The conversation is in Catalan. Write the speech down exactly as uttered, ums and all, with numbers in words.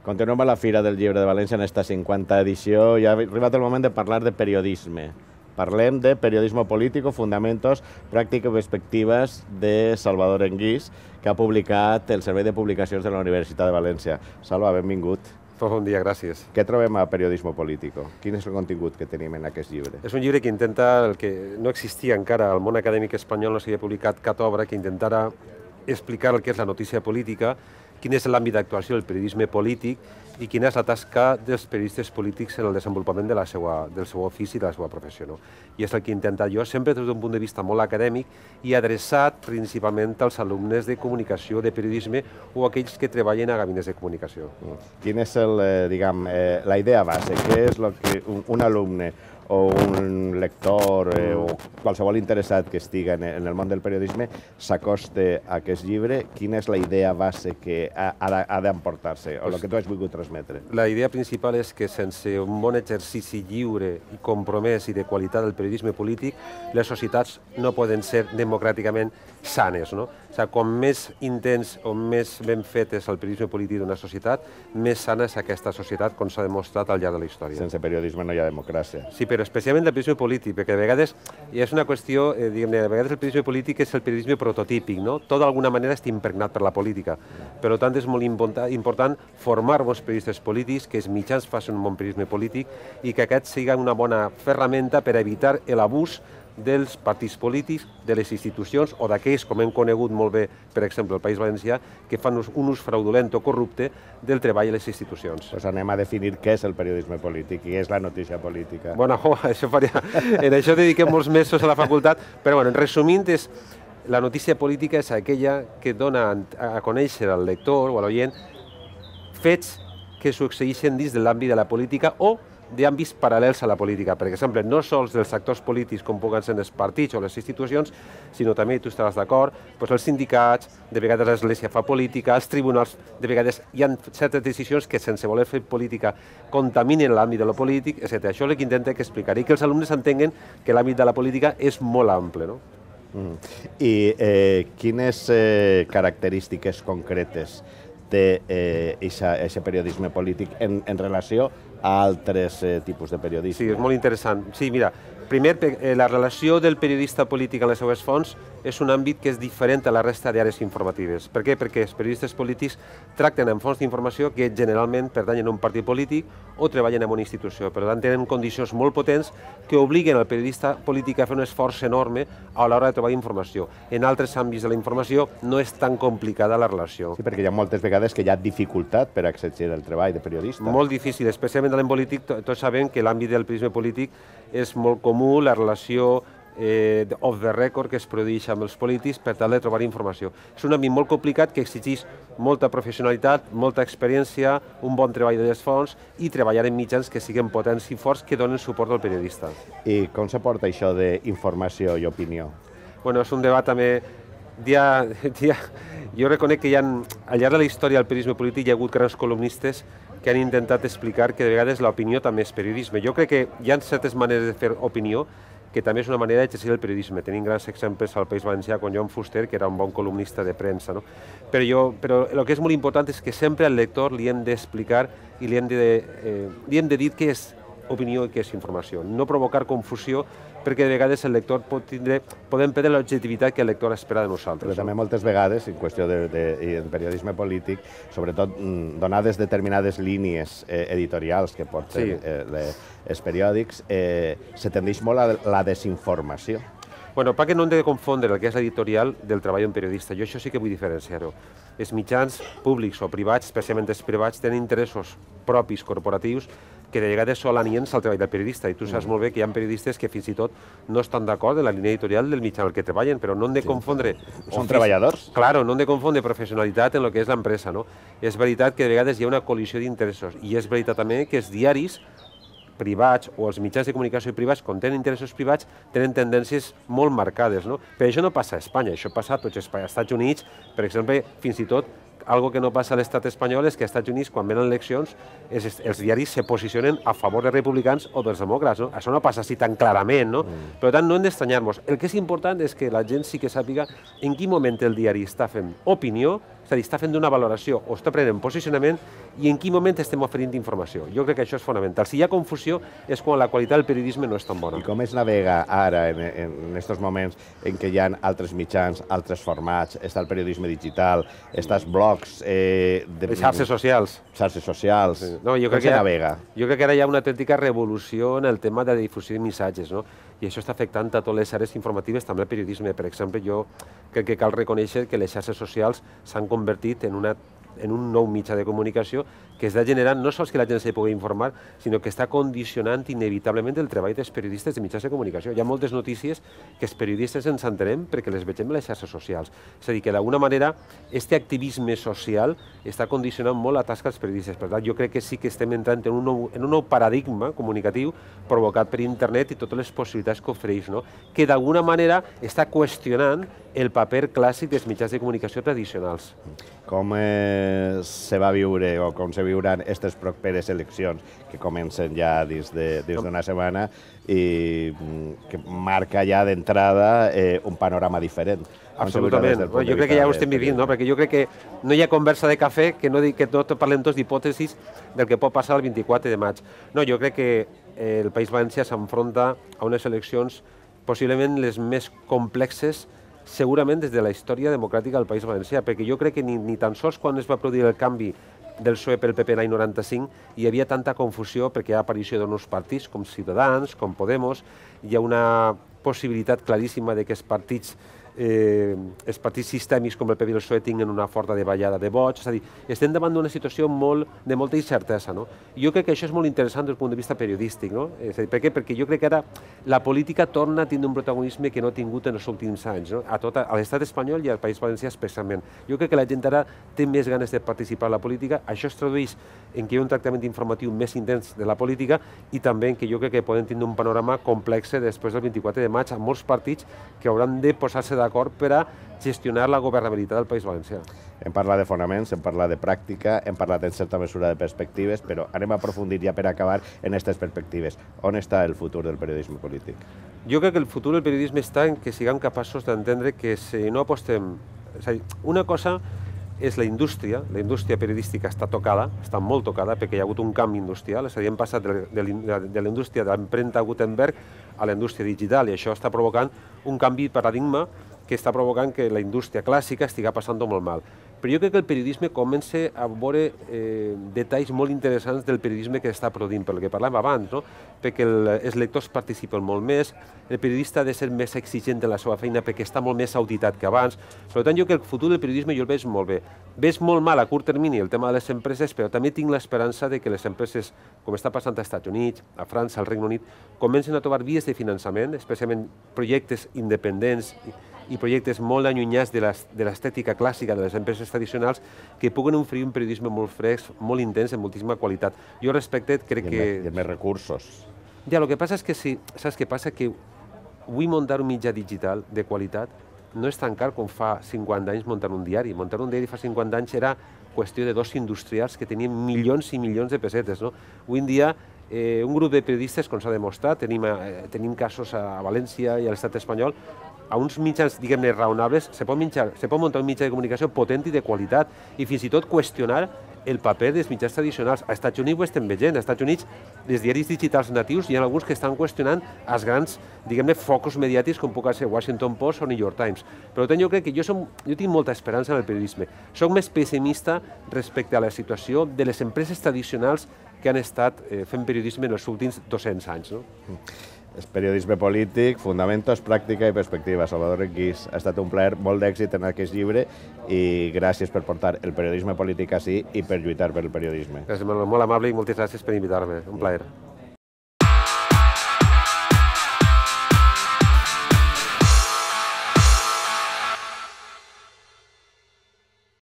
Continuem a la Fira del Llibre de València en esta cinquanta edició i ha arribat el moment de parlar de periodisme. Parlem de periodisme polític, fundamentos, pràctiques i perspectives de Salvador Enguís, que ha publicat el Servei de Publicacions de la Universitat de València. Salva, benvingut. Bon dia, gràcies. Què trobem a Periodismo Político? Quin és el contingut que tenim en aquest llibre? És un llibre que intenta, el que no existia encara al món acadèmic espanyol, no s'havia publicat cap obra que intentara explicar el que és la notícia política, quin és l'àmbit d'actuació del periodisme polític i quina és la tasca dels periodistes polítics en el desenvolupament de la seva, del seu ofici i de la seva professió. No? I és el que he intentat jo, sempre des d'un punt de vista molt acadèmic i adreçat principalment als alumnes de comunicació, de periodisme o aquells que treballen a gabinets de comunicació. Quina és el, eh, diguem, eh, la idea base? Què és el que un, un alumne o un lector eh, o qualsevol interessat que estigui en, en el món del periodisme s'acosta a aquest llibre? Quina és la idea base que ha, ha d'emportar-se o el que tu has volgut transmetre? La idea principal és que sense un bon exercici lliure i compromès i de qualitat del periodisme polític, les societats no poden ser democràticament sanes. No? O sigui, com més intens o més ben fet és el periodisme polític d'una societat, més sana és aquesta societat, com s'ha demostrat al llarg de la història. Sense periodisme no hi ha democràcia. Sí, però especialment el periodisme polític, perquè de vegades és una qüestió, eh, diguem-ne, de vegades el periodisme polític és el periodisme prototípic, no? Tot d'alguna manera està impregnat per la política. Per tant, és molt important formar bons periodistes polítics, que els mitjans facin un bon periodisme polític i que aquest sigui una bona ferramenta per evitar l'abús dels partits polítics, de les institucions o d'aquells, com hem conegut molt bé, per exemple, el País Valencià, que fan un ús fraudulent o corrupte del treball a les institucions. Doncs anem a definir què és el periodisme polític i què és la notícia política. Bueno, això faria... En això dediquem molts mesos a la facultat, però bueno, en resumint, és... la notícia política és aquella que dona a conèixer al lector o a l'oient fets que succeeixen dins de l'àmbit de la política o d'àmbits paral·lels a la política. Per exemple, no sols dels actors polítics com puguen ser els partits o les institucions, sinó també, tu estaràs d'acord, doncs els sindicats, de vegades l'Església fa política, els tribunals, de vegades hi ha certes decisions que sense voler fer política contaminen l'àmbit de la política, etcètera. Això és el que intenta explicar i que els alumnes entenguen que l'àmbit de la política és molt ample. No? Mm. I eh, quines eh, característiques concretes té aquest eh, periodisme polític en, en relació a altres eh, tipus de periodisme? Sí, és molt interessant. Sí, mira, primer, eh, la relació del periodista polític en les seues fonts és un àmbit que és diferent a la resta d'àrees informatives. Per què? Perquè els periodistes polítics tracten amb fonts d'informació que generalment pertanyen a un partit polític o treballen en una institució. Per tant, tenen condicions molt potents que obliguen al periodista polític a fer un esforç enorme a l'hora de trobar informació. En altres àmbits de la informació no és tan complicada la relació. Sí, perquè hi ha moltes vegades que hi ha dificultat per accedir al treball de periodista. Molt difícil, especialment en polític. Tots sabem que l'àmbit del periodisme polític és molt comú, la relació eh, off the record que es produeix amb els polítics per tal de trobar informació. És un àmbit molt complicat que exigeix molta professionalitat, molta experiència, un bon treball de les fonts i treballar en mitjans que siguin potents i forts que donen suport al periodista. I com se porta això d'informació i opinió? Bueno, és un debat també... Dia, dia, jo reconec que hi ha, al llarg de la història del periodisme polític hi ha hagut grans columnistes que han intentat explicar que de vegades l'opinió també és periodisme. Jo crec que hi ha certes maneres de fer opinió que també és una manera d'exercir el periodisme. Tenim grans exemples al País Valencià com Joan Fuster, que era un bon columnista de premsa. No? Però, jo, però el que és molt important és que sempre al lector li hem d'explicar i li hem de, eh, li hem de dir què és opinió i què és informació. No provocar confusió, perquè de vegades el lector pot tindre, podem perdre l'objectivitat que el lector espera de nosaltres. Però també moltes vegades, en qüestió de, de, de periodisme polític, sobretot donades determinades línies eh, editorials que porten sí. eh, els periòdics, eh, se tendeix molt a la desinformació. Bueno, perquè no hem de confondre el que és l'editorial del treball d'un periodista. Jo això sí que vull diferenciar-ho. Els mitjans públics o privats, especialment els privats, tenen interessos propis, corporatius, que de vegades són aliens al treball del periodista. I tu saps molt bé que hi ha periodistes que fins i tot no estan d'acord en la línia editorial del mitjà en el que treballen, però no hem de confondre... Són treballadors? Claro, no hem de confondre professionalitat en el que és l'empresa. No? És veritat que de vegades hi ha una col·lisió d'interessos i és veritat també que els diaris privats o els mitjans de comunicació privats, quan tenen interessos privats, tenen tendències molt marcades. No? Però això no passa a Espanya, això passa a tots els Estats Units, per exemple, fins i tot algo que no passa a l'estat espanyol és que als Estats Units, quan venen eleccions, els, els diaris se posicionen a favor dels republicans o dels demòcrates. No? Això no passa així tan clarament, no? Mm. Per tant, no hem d'estranyar-nos. El que és important és que la gent sí que sàpiga en quin moment el diari està fent opinió és a dir, està fent una valoració o està prenent posicionament i en quin moment estem oferint informació. Jo crec que això és fonamental. Si hi ha confusió és quan la qualitat del periodisme no és tan bona. I com es navega ara, en, en aquests moments en què hi ha altres mitjans, altres formats, està el periodisme digital, està els blogs... Eh, de, les xarxes socials. Xarxes socials. Sí. No, jo com crec que se ha, navega? Jo crec que ara hi ha una autèntica revolució en el tema de la difusió de missatges, no? I això està afectant a totes les àrees informatives, també el periodisme. Per exemple, jo crec que cal reconèixer que les xarxes socials s'han convertit en una en un nou mitjà de comunicació que està generant no sols que la gent se pugui informar, sinó que està condicionant inevitablement el treball dels periodistes de mitjans de comunicació. Hi ha moltes notícies que els periodistes ens entenem perquè les vegem a les xarxes socials. És a dir, que d'alguna manera este activisme social està condicionant molt la tasca dels periodistes. Per tant, jo crec que sí que estem entrant en un nou, en un nou paradigma comunicatiu provocat per internet i totes les possibilitats que ofereix, no? Que d'alguna manera està qüestionant el paper clàssic dels mitjans de comunicació tradicionals. Com eh, se va viure o com se viuran aquestes properes eleccions que comencen ja dins d'una setmana i que marca ja d'entrada eh, un panorama diferent? Absolutament. No, jo crec que ja ho estem vivint, no? Perquè jo crec que no hi ha conversa de cafè que no, que no parlem tots d'hipòtesis del que pot passar el vint-i-quatre de maig. No, jo crec que eh, el País Valencià s'enfronta a unes eleccions possiblement les més complexes segurament des de la història democràtica del País Valencià, perquè jo crec que ni, ni tan sols quan es va produir el canvi del P S O E pel P P l'any noranta-cinc hi havia tanta confusió perquè hi ha aparició de nous partits com Ciutadans, com Podemos, hi ha una possibilitat claríssima de que els partits Eh, els partits sistèmics com el P P i el P S O E tinguin una forta davallada de vots, és a dir, estem davant d'una situació molt, de molta incertesa, no? I jo crec que això és molt interessant des del punt de vista periodístic, no? És a dir, per què? Perquè jo crec que ara la política torna a tindre un protagonisme que no ha tingut en els últims anys, no? A, tot, a l'estat espanyol i al País Valencià especialment. Jo crec que la gent ara té més ganes de participar en la política, això es tradueix en que hi ha un tractament informatiu més intens de la política i també en que jo crec que poden tindre un panorama complex després del vint-i-quatre de maig amb molts partits que hauran de posar-se d'acord per a gestionar la governabilitat del País Valencià. Hem parlat de fonaments, hem parlat de pràctica, hem parlat en certa mesura de perspectives, però anem a aprofundir ja per acabar en aquestes perspectives. On està el futur del periodisme polític? Jo crec que el futur del periodisme està en que siguem capaços d'entendre que si no apostem... És a dir, una cosa és la indústria, la indústria periodística està tocada, està molt tocada perquè hi ha hagut un canvi industrial, és a dir, hem passat de la indústria de l'empremta Gutenberg a la indústria digital i això està provocant un canvi de paradigma que està provocant que la indústria clàssica estigui passant molt mal. Però jo crec que el periodisme comença a veure eh, detalls molt interessants del periodisme que està produint, per el que parlàvem abans, no? Perquè el, els lectors participen molt més, el periodista ha de ser més exigent en la seva feina perquè està molt més auditat que abans. Per tant, jo crec que el futur del periodisme jo el veig molt bé. Veig molt mal a curt termini el tema de les empreses, però també tinc l'esperança de que les empreses, com està passant als Estats Units, a França, al Regne Unit, comencen a trobar vies de finançament, especialment projectes independents i, i projectes molt allunyats de l'estètica clàssica de les empreses tradicionals que puguen oferir un periodisme molt fresc, molt intens, amb moltíssima qualitat. Jo respecte, crec que... I més recursos. Ja, el que passa és que sí, saps què passa? Que avui muntar un mitjà digital de qualitat no és tan car com fa cinquanta anys muntar un diari. Muntar un diari fa cinquanta anys era qüestió de dos industrials que tenien milions i milions de pessetes, no? Avui en dia, eh, un grup de periodistes, com s'ha demostrat, tenim, eh, tenim casos a València i a l'estat espanyol, a uns mitjans, diguem-ne, raonables, se pot, mitjar, se pot muntar un mitjà de comunicació potent i de qualitat i fins i tot qüestionar el paper dels mitjans tradicionals. Als Estats Units ho estem veient. Als Estats Units, els diaris digitals natius, hi ha alguns que estan qüestionant els grans, diguem-ne, focus mediàtics com puc ser Washington Post o New York Times. Per tant, jo crec que jo, som, jo tinc molta esperança en el periodisme. Soc més pessimista respecte a la situació de les empreses tradicionals que han estat eh, fent periodisme en els últims dos-cents anys. No? És periodisme polític, fonamentos, pràctica i perspectiva. Salvador Enquís, ha estat un plaer, molt d'èxit en aquest llibre i gràcies per portar el periodisme polític així i per lluitar per el periodisme. Gràcies, Manuel, molt amable i moltes gràcies per invitar-me. Un plaer.